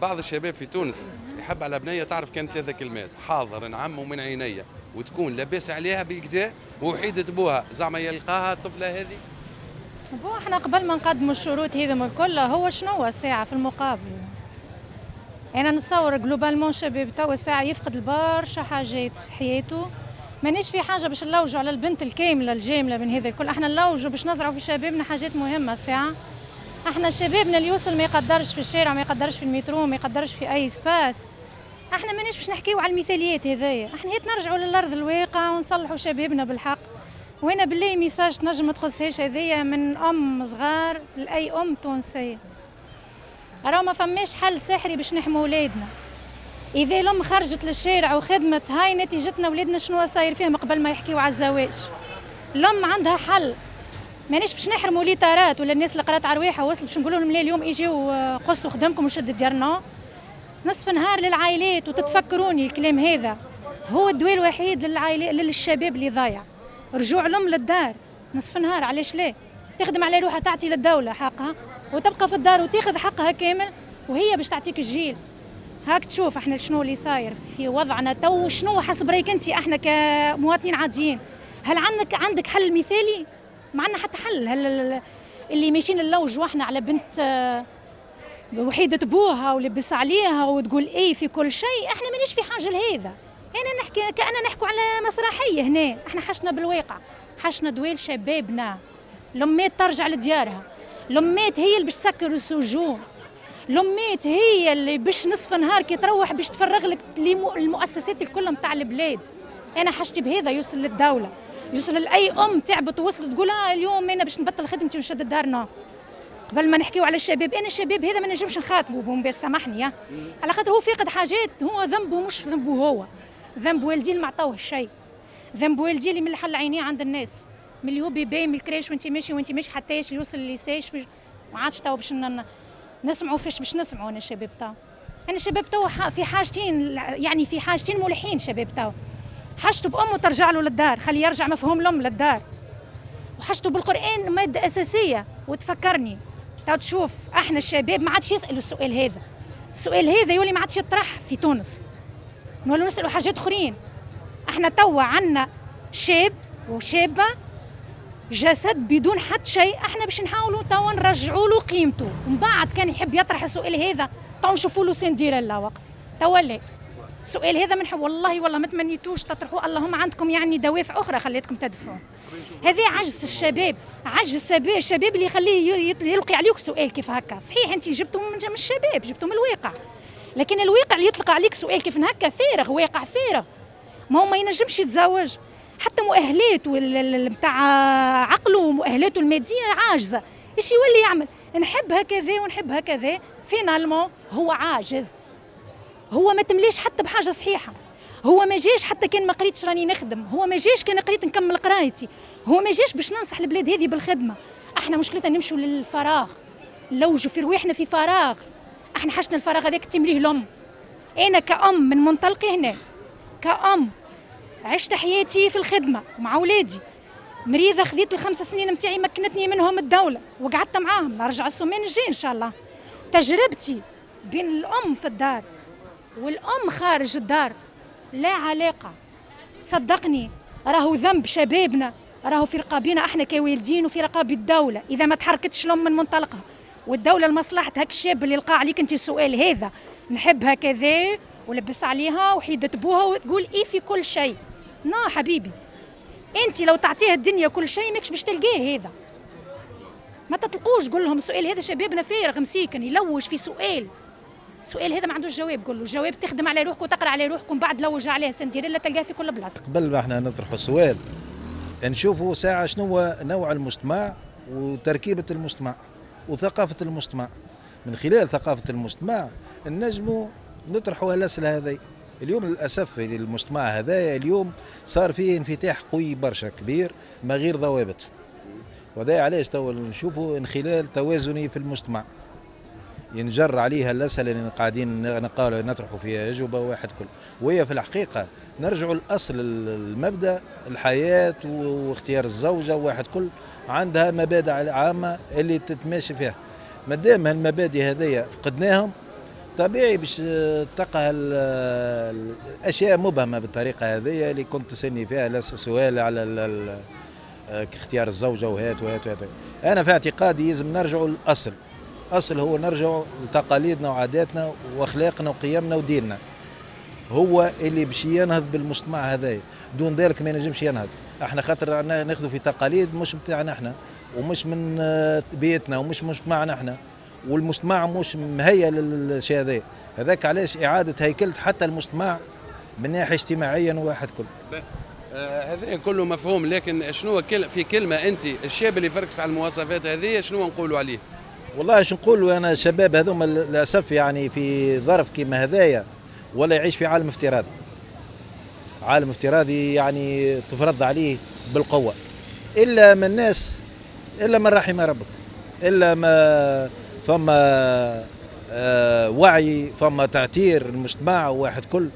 بعض الشباب في تونس يحب على بنيه تعرف كان ثلاثة كلمات، حاضر نعم ومن عينيا، وتكون لاباس عليها بالكدا ووحيده بوها، زعما يلقاها الطفلة هذه؟ bon احنا قبل ما نقدموا الشروط هذم الكل، هو شنو الساعة في المقابل؟ انا نتصور globalement شباب توا ساعة يفقد برشا حاجات في حياته. مانيش في حاجة باش نلوجوا على البنت الكاملة الجامله من هذا الكل، احنا نلوجوا باش نزرعوا في شبابنا حاجات مهمة. ساعة احنا شبابنا اللي يوصل ما يقدرش في الشارع، ما يقدرش في المترو، ما يقدرش في اي espace. احنا مانيش باش نحكيو على المثاليات هذايا، احنا هيت نرجعوا للارض الواقع ونصلحوا شبابنا بالحق. وانا بالله message تنجم ما تخصهاش هذايا من ام صغار لاي ام تونسية، راهو ما فماش حل سحري باش نحموا ولادنا. اذا الام خرجت للشارع وخدمت، هاي نتيجتنا ولادنا شنو صاير فيهم قبل ما يحكيو على الزواج. الام عندها حل، مانيش باش نحرموا ليتارات ولا الناس اللي قرات على رواحها وصلت باش نقولوا لهم لا اليوم اجيو قصوا خدمكم وشد ديارنا. نصف نهار للعائلات، وتتفكروني الكلام هذا هو الدواء الوحيد للعائلات للشباب اللي ضايع، رجوع الام للدار نصف نهار. علاش لا؟ تخدم على روحها، تعطي للدولة حقها وتبقى في الدار وتاخذ حقها كامل، وهي باش تعطيك الجيل. هاك تشوف احنا شنو اللي صاير في وضعنا تو، شنو حسب رايك انت احنا كمواطنين عاديين؟ هل عندك حل مثالي؟ ما عندنا حتى حل. هل اللي ماشيين نلوجوا واحنا على بنت وحيدة بوها ولبس عليها وتقول ايه في كل شيء؟ احنا مانيش في حاجة لهذا. انا نحكي كأننا نحكوا على مسرحية هنا، احنا حشنا بالواقع، حشنا دويل شبابنا. لمات ترجع لديارها، لمات هي اللي باش تسكر السجون، لمات هي اللي باش نصف نهار كي تروح باش تفرغ لك المؤسسات الكل نتاع البلاد. انا حاجتي بهذا يوصل للدولة، يوصل لاي ام تعبت ووصلت تقول اليوم انا باش نبطل خدمتي ونشد دارنا. قبل ما نحكيو على الشباب، انا الشباب هذا ما نجمش نخاطبه باش سامحني، على خاطر هو فاقد حاجات، هو ذنبه مش ذنبه هو، ذنب والديه اللي ما عطاوه شيء، ذنب والديه اللي من حل عينيه عند الناس، من اللي هو bébé من ال crèche وانت ماشي وانت ماشي حتى يوصل للل lycée. ما عادش تو باش نسمعوا فاش باش نسمعوا. انا الشباب تو، انا الشباب تو في حاجتين، يعني في حاجتين ملحين شباب تو. حاجته بامه ترجع له للدار، خليه يرجع مفهوم الام للدار، وحاجته بالقران مادة اساسية. وتفكرني تو تشوف احنا الشباب ما عادش يسالوا السؤال هذا، السؤال هذا يولي ما عادش يطرح في تونس، نولوا نسالوا حاجات اخرين. احنا توا عندنا شاب وشابه جسد بدون حتى شيء، احنا باش نحاولوا توا نرجعوا له قيمته، ومن بعد كان يحب يطرح السؤال هذا تو نشوفوا له سنديريلا وقت. توا لا، السؤال هذا من والله والله ما تمنيتوش تطرحوه، اللهم عندكم يعني دوافع اخرى خليتكم تدفعوا. هذا عجز الشباب، عجز الشباب اللي يخليه يلقي عليك سؤال كيف هكا. صحيح انت جبته من الشباب، جبته من الواقع، لكن الواقع اللي يطلق عليك سؤال كيف هكا فارغ، واقع فارغ. ما هو ما ينجمش يتزوج، حتى مؤهلاته نتاع عقله ومؤهلاته المادية عاجزه. ايش يولي يعمل؟ نحب هكذا ونحب هكذا، finalement هو عاجز، هو ما تمليش حتى بحاجة صحيحه، هو ما جاش حتى كان ما قريتش راني نخدم، هو ما جاش كان قريت نكمل قرايتي، هو ما جاش باش ننصح البلاد هذه بالخدمة. احنا مشكلتنا نمشوا للفراغ، نلوجوا في رواحنا في فراغ، احنا حشنا الفراغ هذاك تمليه الام. انا كأم من منطلقي هنا، كأم عشت حياتي في الخدمة ومع اولادي، مريضه خذيت ال5 سنين نتاعي مكنتني منهم الدولة وقعدت معاهم، نرجع السومين الجاي ان شاء الله. تجربتي بين الام في الدار والام خارج الدار لا علاقة، صدقني راهو ذنب شبابنا، راهو في رقابنا احنا كوالدين وفي رقاب الدولة اذا ما تحركتش الام من منطلقها، والدولة لمصلحة هاك الشاب اللي لقى عليك انت السؤال هذا، نحبها كذا ولبس عليها وحيدة بوها وتقول ايه في كل شيء. نا حبيبي، انت لو تعطيها الدنيا كل شيء ماكش باش تلقاه هذا. ما تطلقوش، قول لهم السؤال هذا شبابنا فارغ مسيكن يلوج في سؤال، السؤال هذا ما عندوش جواب. قول له جواب تخدم على روحك وتقرا على روحك ومن بعد لوج عليه سنديريلا تلقاه في كل بلاصة. قبل ما احنا نطرحوا السؤال نشوفوا ساعة شنو هو نوع المجتمع وتركيبه المجتمع وثقافة المجتمع. من خلال ثقافة المجتمع نجموا نطرحوا الاسئلة هذه. اليوم للاسف المجتمع هذا اليوم صار فيه انفتاح قوي برشا كبير ما غير ضوابط، وهذا علاش تو نشوفوا انخلال توازني في المجتمع ينجر عليها الاسئلة اللي قاعدين نطرحوا فيها اجوبه واحد كل، وهي في الحقيقة نرجعوا لاصل المبدا الحياة واختيار الزوجة واحد كل عندها مبادئ عامة اللي تتماشي فيها. ما دام هالمبادئ هذيا فقدناهم طبيعي باش تلقى الاشياء مبهمة بالطريقة هذه اللي كنت تسالني فيها، لا سؤال على اختيار الزوجة وهات وهات وهات. انا في اعتقادي لازم نرجعوا للاصل. الاصل هو نرجعوا لتقاليدنا وعاداتنا واخلاقنا وقيمنا وديننا، هو اللي باش ينهض بالمجتمع هذايا، دون ذلك ما ينجمش ينهض. احنا خاطر ناخذوا في تقاليد مش بتاعنا احنا، ومش من بيتنا، ومش مجتمعنا احنا، والمجتمع مش مهيئ للشيء هذا. هذاك علاش اعاده هيكله حتى المجتمع من ناحية اجتماعيا واحد كل. هذا كله مفهوم، لكن شنو في كلمة انت الشاب اللي فركس على المواصفات هذه شنو نقولوا عليه؟ والله شو نقولوا انا، الشباب هذوما للاسف يعني في ظرف كيما هذايا ولا يعيش في عالم افتراضي. عالم افتراضي يعني تفرض عليه بالقوة، الا من الناس، الا من رحم ربك، الا ما فما وعي، فما تعتير المجتمع واحد كل،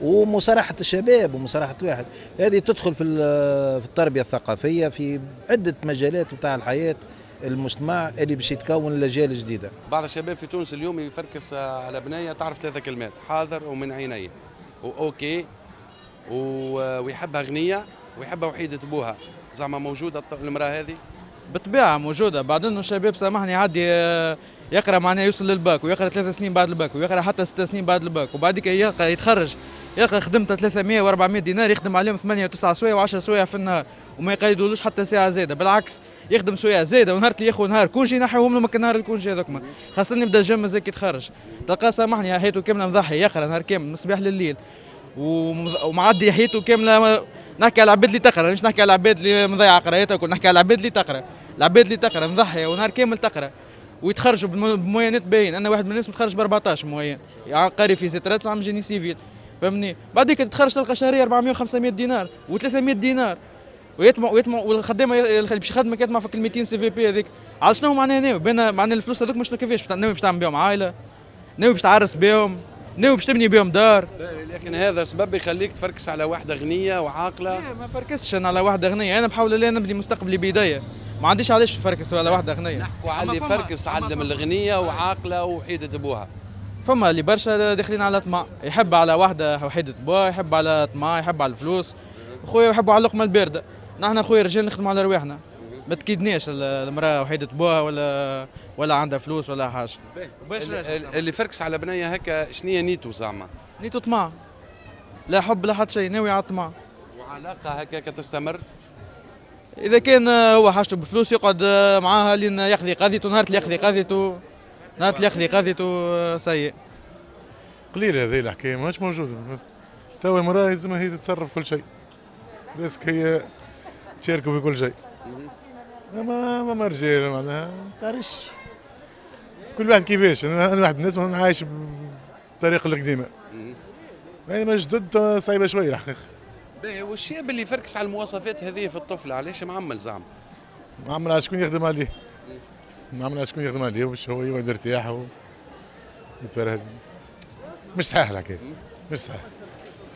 ومصارحة الشباب ومصارحة الواحد. هذه تدخل في التربية الثقافية في عدة مجالات بتاع الحياة المجتمع اللي باش يتكون الأجيال الجديدة. بعض الشباب في تونس اليوم يفركس على بنية تعرف 3 كلمات: حاضر ومن عيني و OK، ويحبها غنية ويحبها وحيدة بوها. زعما موجودة المرأة هذه؟ بالطبيعة موجودة. بعد انه الشباب سامحني يعدي يقرا معناها يوصل للباك ويقرا 3 سنين بعد الباك ويقرا حتى 6 سنين بعد الباك، وبعديك يلقى يتخرج يلقى خدمته 300 و400 دينار، يخدم عليهم 8 و9 سوايع و10 سوايع في النهار، وما يقيدولوش حتى ساعة زايدة، بالعكس يخدم سوايع زايدة، ونهار اللي ياخذ نهار congé ينحيوهم له من نهار ال congé هذوك، خاصة يبدا jeune مازال كي يتخرج، تلقاه سامحني حياته كاملة مضحي، يقرا نهار كامل من الصباح لليل ومعدي حياته كاملة. نحكي على العباد اللي تقرا، مش نحكي على العباد اللي مضيعة قرايتها، نحكي على العباد اللي تقرا، العباد اللي تقرا مضحيه ونهار كامل تقرا ويتخرجوا بموينات باين. انا واحد من الناس متخرج ب 14 moyenne، يعني قاري في زيترات عام génie civil، فهمني؟ بعديك تتخرج تلقى شهرية 400 و500 دينار و300 دينار، ويطمع ويطمع والخدامه اللي باش يخدمك يطمع في 200 CVP هذيك. على شنو معناها ناوي؟ بين معناها الفلوس هذوك مش كيفاش ناوي باش تعمل بهم عائلة؟ ناوي باش تعرس بهم؟ ناوي باش تبني بهم دار؟ لكن هذا سبب يخليك تفركس على واحدة غنية وعاقله؟ لا ما فركسش انا على واحدة غنية، انا بحاول الله نبني مستقبلي بيديا، ما عنديش علاش نفركس على واحدة غنية. نحكوا على اللي فركس على الغنية وعاقله وحيده ابوها. فما اللي برشا داخلين على طمع، يحب على واحدة وحيده بوها، يحب على طمع، يحب على الفلوس، خويا يحبوا على اللقمة البارده. نحن خويا رجال نخدموا على رواحنا، ما تكيدناش المراة وحيده بوها ولا عندها فلوس ولا حاجة. اللي فركس على بنيه هكا شنو نيته زعما؟ نيته طمع، لا حب لا حتى شيء، ناوي على الطمع. وعلاقة هكاك تستمر؟ اذا كان هو حاجته بفلوس يقعد معاها لين يقضي قضيته، نهار اللي يقضي قضيته، نهار اللي يقضي قضيته سيء. قليل هذه الحكاية ماهيش موجودة. توا المراة لازم هي تتصرف كل شيء، بس هي تشاركوا في كل شيء. ما رجال معناها ما تعرفش كل واحد كيفاش. انا واحد من الناس عايش بالطريقة القديمة، يعني ما جدد صعيبة شوية الحقيقة. باهي، والشاب اللي يفركس على المواصفات هذه في الطفلة علاش معمل زعما؟ معمل على شكون يخدم عليه؟ معمل على شكون يخدم عليه باش هو يقعد يرتاح ويتفرهد. مش صحيح الحكاية، مش صحيح.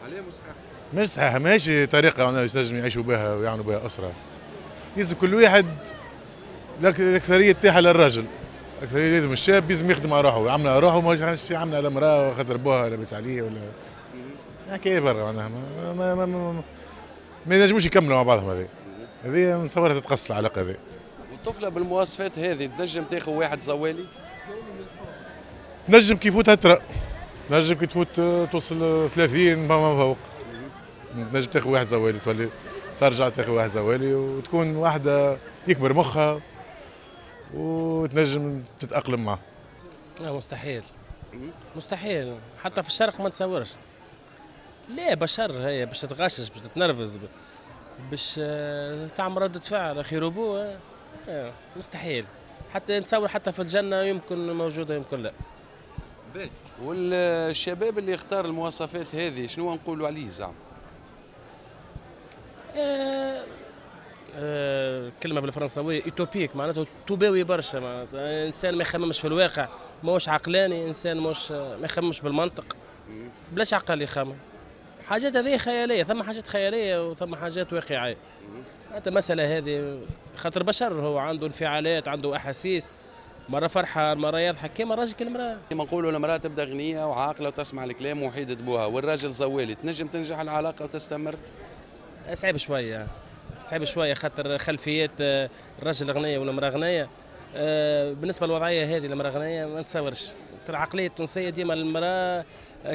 علاه مش صحيح؟ مش صحيح، ماهيش طريقه معناها باش يعيشوا بها ويعملوا بها اسره. لازم كل واحد الاكثرية تاعها للراجل، الاكثرية لازم الشاب لازم يخدم على روحه، يعمل على روحه، ماهيش يعمل على امراة خاطر بوها لاباس عليه ولا حكاية برا معناها ما ما ما, ما, ما ينجموش يكملوا مع بعضهم. هذه نتصورها تتقص العلاقة هذه. والطفله بالمواصفات هذه تنجم تاخذ واحد زوالي؟ تنجم كي يفوتها ترى، تنجم كي تفوت توصل 30 ما فوق، تنجم تاخذ واحد زوالي، تولي ترجع تاخذ واحد زوالي وتكون واحدة يكبر مخها وتنجم تتأقلم معه. لا مستحيل، مستحيل، حتى في الشرق ما تصورش. لا بشر هي باش تتغشش، باش تتنرفز، باش تعمل ردة فعل اخي روبو، مستحيل. حتى نتصور حتى في الجنة يمكن موجودة يمكن لا. والشباب اللي اختار المواصفات هذه شنو نقولوا عليه زعما؟ كلمة بالفرنساوية utopique، معناته توباوي برشا، معناته انسان ما يخممش في الواقع، ماهوش عقلاني، انسان ماهوش ما يخممش بالمنطق، بلاش عقل يخمم. حاجات هذه خيالية، ثم حاجات خيالية وثم حاجات واقعية. حتى المسألة هذه خاطر بشر هو عنده انفعالات، عنده أحاسيس، مرة فرحان، مرة يضحك، كيما الراجل كي المراة. كما نقولوا المراة تبدا غنية وعاقله وتسمع الكلام وحيده بوها، والراجل زوالي، تنجم تنجح العلاقة وتستمر؟ صعيب شوية، صعيب شوية، خاطر خلفيات الراجل غنية والمراة غنية. بالنسبة للوضعيه هذه المراة غنية ما نتصورش. العقلية التونسية ديما المراة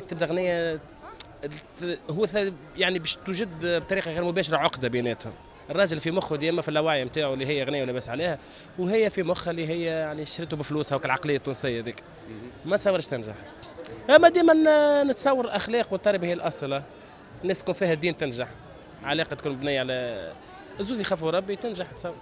تبدا غنية، هو يعني باش توجد بطريقة غير مباشرة عقده بيناتهم. الراجل في مخه ديما في اللاوعي نتاعو اللي هي غنية ولاباس عليها، وهي في مخها اللي هي يعني شريته بفلوسها، وكالعقليه التونسية ذيك ما تصورش تنجح. اما ديما نتصور الاخلاق والتربية هي الاصل، الناس تكون فيها الدين تنجح، علاقة تكون مبنية على الزوز يخافوا ربي تنجح تصور.